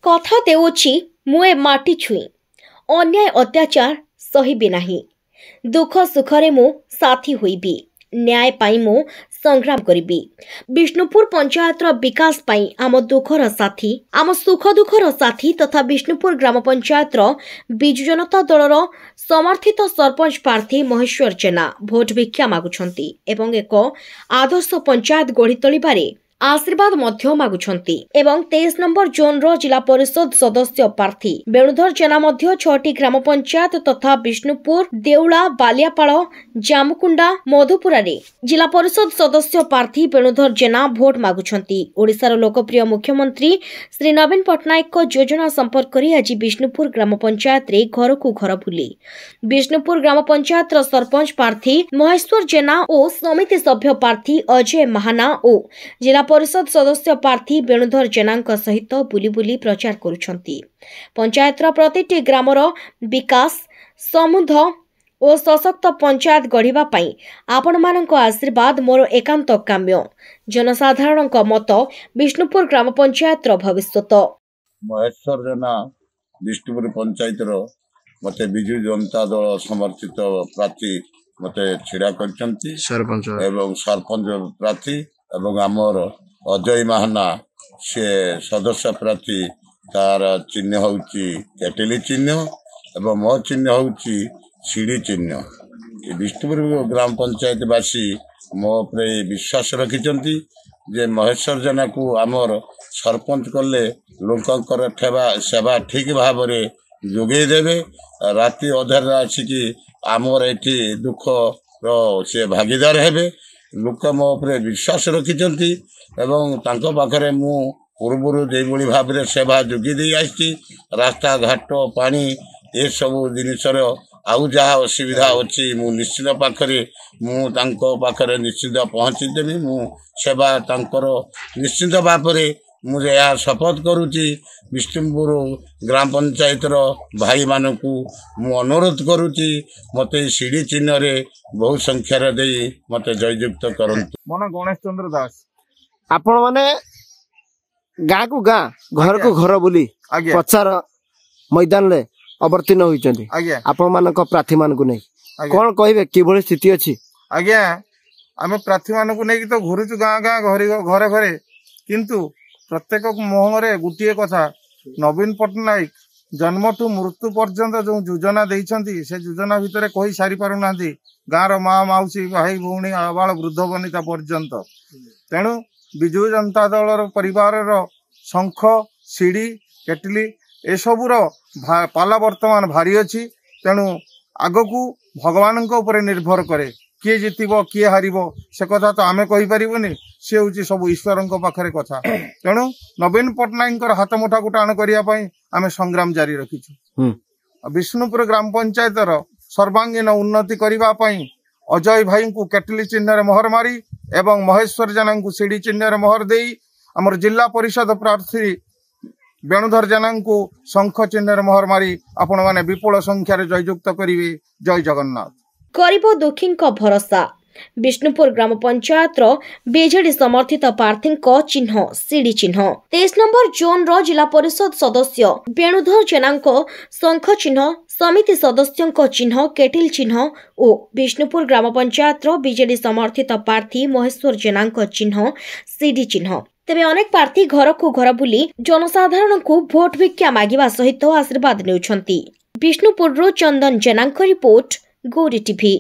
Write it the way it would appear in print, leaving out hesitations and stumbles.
କଥା ଦେଉଛି ମୁଁ ଏ ମାଟି ଛୁଇଁ ଅନ୍ୟାୟ ଅତ୍ୟାଚାର ସହିବି ନାହିଁ। ଦୁଃଖ ସୁଖରେ ମୁଁ ସାଥୀ ହୋଇବି, ନ୍ୟାୟ ପାଇଁ ମୁଁ ସଂଗ୍ରାମ କରିବି। ବିଷ୍ଣୁପୁର ପଞ୍ଚାୟତର ବିକାଶ ପାଇଁ ଆମ ଦୁଃଖର ସାଥୀ, ଆମ ସୁଖ ଦୁଃଖର ସାଥୀ ତଥା ବିଷ୍ଣୁପୁର ଗ୍ରାମ ପଞ୍ଚାୟତର ବିଜୁ ଜନତା ଦଳର ସମର୍ଥିତ ସରପଞ୍ଚ ପ୍ରାର୍ଥୀ ମହେଶ୍ୱର ଜେନା ଭୋଟ ଭିକ୍ଷା ମାଗୁଛନ୍ତି ଏବଂ ଏକ ଆଦର୍ଶ ପଞ୍ଚାୟତ ଗଢ଼ି ତୋଳିବାରେ ଆଶୀର୍ବାଦ ମଧ୍ୟ ମାଗୁଛନ୍ତି। ଏବଂ 23 ନମ୍ବର ଜୋନ୍ର ଜିଲ୍ଲା ପରିଷଦ ସଦସ୍ୟ ପ୍ରାର୍ଥୀ ବେଣୁଧର ଜେନା ମଧ୍ୟ 6ଟି ଗ୍ରାମ ପଞ୍ଚାୟତ ତଥା ବିଷ୍ଣୁପୁର, ଦେଉଳା, ବାଲିଆପାଳ, ଜାମୁକୁଣ୍ଡା, ମଧୁପୁରାରେ ଜିଲ୍ଲା ପରିଷଦ ସଦସ୍ୟ ପ୍ରାର୍ଥୀ ବେଣୁଧର ଜେନା ଭୋଟ ମାଗୁଛନ୍ତି। ଓଡ଼ିଶାର ଲୋକପ୍ରିୟ ମୁଖ୍ୟମନ୍ତ୍ରୀ ଶ୍ରୀ ନବୀନ ପଟ୍ଟନାୟକଙ୍କ ଯୋଜନା ସମ୍ପର୍କରେ ଆଜି ବିଷ୍ଣୁପୁର ଗ୍ରାମ ପଞ୍ଚାୟତରେ ଘରକୁ ଘର ବୁଲି ବିଷ୍ଣୁପୁର ଗ୍ରାମ ପଞ୍ଚାୟତର ସରପଞ୍ଚ ପ୍ରାର୍ଥୀ ମହେଶ୍ୱର ଜେନା ଓ ସମିତି ସଭ୍ୟ ପ୍ରାର୍ଥୀ ଅଜୟ ମାହାନା ଓ ଜିଲ୍ଲା ପରିଷଦ ସଦସ୍ୟ ପ୍ରାର୍ଥୀ ବେଣୁଧର ଜେନାଙ୍କ ସହିତ ବୁଲି ବୁଲି ପ୍ରଚାର କରୁଛନ୍ତି। ପଞ୍ଚାୟତର ପ୍ରତିଟି ଗ୍ରାମର ବିକାଶ, ସମୃଦ୍ଧ ଓ ସଶକ୍ତ ପଞ୍ଚାୟତ ଗଢ଼ିବା ପାଇଁ ଆପଣମାନଙ୍କ ଆଶୀର୍ବାଦ ମୋର ଏକାନ୍ତ କାମ୍ୟ। ଜନସାଧାରଣଙ୍କ ମତ ବିଷ୍ଣୁପୁର ଗ୍ରାମ ପଞ୍ଚାୟତର ଭବିଷ୍ୟତ। ମହେଶ୍ୱର ଜେନା, ବିଷ୍ଣୁପୁର ପଞ୍ଚାୟତର ମୋତେ ବିଜୁ ଜନତା ଦଳ ସମର୍ଥିତ ପ୍ରାର୍ଥୀ ମୋତେ ଛିଡ଼ା କରିଛନ୍ତି ସରପଞ୍ଚ ଏବଂ ସରପଞ୍ଚ ପ୍ରାର୍ଥୀ, ଏବଂ ଆମର ଅଜୟ ମାହାନା ସିଏ ସଦସ୍ୟ ପ୍ରାର୍ଥୀ, ତାର ଚିହ୍ନ ହେଉଛି କେଟେଲି ଚିହ୍ନ ଏବଂ ମୋ ଚିହ୍ନ ହେଉଛି ସିଡ଼ି ଚିହ୍ନ। ଏ ବିଷ୍ଣୁପୁର ଗ୍ରାମ ପଞ୍ଚାୟତବାସୀ ମୋ ଉପରେ ବିଶ୍ୱାସ ରଖିଛନ୍ତି ଯେ ମହେଶ୍ୱର ଜେନାକୁ ଆମର ସରପଞ୍ଚ କଲେ ଲୋକଙ୍କର ସେବା ଠିକ୍ ଭାବରେ ଯୋଗେଇ ଦେବେ। ରାତି ଅଧାରେ ଆସିକି ଆମର ଏଠି ଦୁଃଖର ସେ ଭାଗିଦାର ହେବେ। ଲୋକ ମୋ ଉପରେ ବିଶ୍ୱାସ ରଖିଛନ୍ତି ଏବଂ ତାଙ୍କ ପାଖରେ ମୁଁ ପୂର୍ବରୁ ଯେଉଁଭଳି ଭାବରେ ସେବା ଯୋଗେଇ ଦେଇ ଆସିଛି, ରାସ୍ତାଘାଟ, ପାଣି ଏସବୁ ଜିନିଷର ଆଉ ଯାହା ଅସୁବିଧା ଅଛି ମୁଁ ନିଶ୍ଚିତ ପାଖରେ ମୁଁ ତାଙ୍କ ପାଖରେ ନିଶ୍ଚିତ ପହଞ୍ଚି ଦେବି। ମୁଁ ସେବା ତାଙ୍କର ନିଶ୍ଚିତ ଭାବରେ ମୁଁ ଏହା ଶପଥ କରୁଛି। ବିଷ୍ଣୁପୁର ଗ୍ରାମ ପଞ୍ଚାୟତର ଭାଇମାନଙ୍କୁ ମୁଁ ଅନୁରୋଧ କରୁଛି, ମୋତେ ସିଡ଼ି ଚିହ୍ନରେ ବହୁ ସଂଖ୍ୟାରେ ଦେଇ ମୋତେ ଜୟଯୁକ୍ତ କରନ୍ତୁ। ମୋ ନାଁ ଗଣେଶ ଚନ୍ଦ୍ର ଦାସ। ଆପଣ ମାନେ ଗାଁକୁ ଗାଁ, ଘରକୁ ଘର ବୁଲି ପ୍ରଚାର ମଇଦାନରେ ଅବତୀର୍ଣ୍ଣ ହୋଇଛନ୍ତି ଆପଣ ମାନଙ୍କ ପ୍ରାର୍ଥୀ ମାନଙ୍କୁ ନେଇ, କଣ କହିବେ, କିଭଳି ସ୍ଥିତି ଅଛି? ଆଜ୍ଞା, ଆମେ ପ୍ରାର୍ଥୀ ମାନଙ୍କୁ ନେଇକି ତ ଘୁରୁଛୁ ଗାଁ ଗାଁ, ଘରେ ଘରେ, କିନ୍ତୁ ପ୍ରତ୍ୟେକ ମୁହଁରେ ଗୋଟିଏ କଥା, ନବୀନ ପଟ୍ଟନାୟକ ଜନ୍ମଠୁ ମୃତ୍ୟୁ ପର୍ଯ୍ୟନ୍ତ ଯୋଉ ଯୋଜନା ଦେଇଛନ୍ତି ସେ ଯୋଜନା ଭିତରେ କହି ସାରି ପାରୁନାହାନ୍ତି ଗାଁର ମା, ମାଉସୀ, ଭାଇ, ଭଉଣୀ, ଆବାଳ ବୃଦ୍ଧ ବନିତା ପର୍ଯ୍ୟନ୍ତ। ତେଣୁ ବିଜୁ ଜନତା ଦଳର ପରିବାରର ଶଙ୍ଖ, ସିଡ଼ି, କେଟଲି ଏସବୁର ପାଲା ବର୍ତ୍ତମାନ ଭାରି ଅଛି। ତେଣୁ ଆଗକୁ ଭଗବାନଙ୍କ ଉପରେ ନିର୍ଭର କରେ କିଏ ଜିତିବ କିଏ ହାରିବ, ସେ କଥା ତ ଆମେ କହିପାରିବୁନି, ସେ ହେଉଛି ସବୁ ଈଶ୍ୱରଙ୍କ ପାଖରେ କଥା। ତେଣୁ ନବୀନ ପଟ୍ଟନାୟକଙ୍କର ହାତ ମୁଠାକୁ ଟାଣ କରିବା ପାଇଁ ଆମେ ସଂଗ୍ରାମ ଜାରି ରଖିଛୁ। ବିଷ୍ଣୁପୁର ଗ୍ରାମ ପଞ୍ଚାୟତର ସର୍ବାଙ୍ଗୀନ ଉନ୍ନତି କରିବା ପାଇଁ ଅଜୟ ଭାଇଙ୍କୁ କେଟଲି ଚିହ୍ନରେ ମୋହର ମାରି ଏବଂ ମହେଶ୍ୱର ଜେନାଙ୍କୁ ସିଡ଼ି ଚିହ୍ନରେ ମୋହର ଦେଇ ଆମର ଜିଲ୍ଲା ପରିଷଦ ପ୍ରାର୍ଥୀ ବେଣୁଧର ଜେନାଙ୍କୁ ଶଙ୍ଖ ଚିହ୍ନରେ ମୋହର ମାରି ଆପଣମାନେ ବିପୁଳ ସଂଖ୍ୟାରେ ଜୟଯୁକ୍ତ କରିବେ। ଜୟ ଜଗନ୍ନାଥ। ଗରିବ ଦୁଃଖୀଙ୍କ ଭରସା ବିଷ୍ଣୁପୁର ଗ୍ରାମ ପଞ୍ଚାୟତର ବିଜେଡି ସମର୍ଥିତ ପ୍ରାର୍ଥୀଙ୍କ ଚିହ୍ନ ସିଡ଼ି ଚିହ୍ନ। 23 ନମ୍ବର ଜୋନ୍ର ଜିଲ୍ଲା ପରିଷଦ ସଦସ୍ୟ ବେଣୁଧର ଜେନାଙ୍କ ଶଙ୍ଖ ଚିହ୍ନ, ସମିତି ସଦସ୍ୟଙ୍କ ଚିହ୍ନ କେଟିଲ ଚିହ୍ନ ଓ ବିଷ୍ଣୁପୁର ଗ୍ରାମ ପଞ୍ଚାୟତର ବିଜେଡି ସମର୍ଥିତ ପ୍ରାର୍ଥୀ ମହେଶ୍ୱର ଜେନାଙ୍କ ଚିହ୍ନ ସିଡ଼ି ଚିହ୍ନ। ତେବେ ଅନେକ ପ୍ରାର୍ଥୀ ଘରକୁ ଘର ବୁଲି ଜନସାଧାରଣଙ୍କୁ ଭୋଟ ଭିକ୍ଷା ମାଗିବା ସହିତ ଆଶୀର୍ବାଦ ନେଉଛନ୍ତି। ବିଷ୍ଣୁପୁରରୁ ଚନ୍ଦନ ଜେନାଙ୍କ ରିପୋର୍ଟ, ଗୌରୀ ଟିଭି।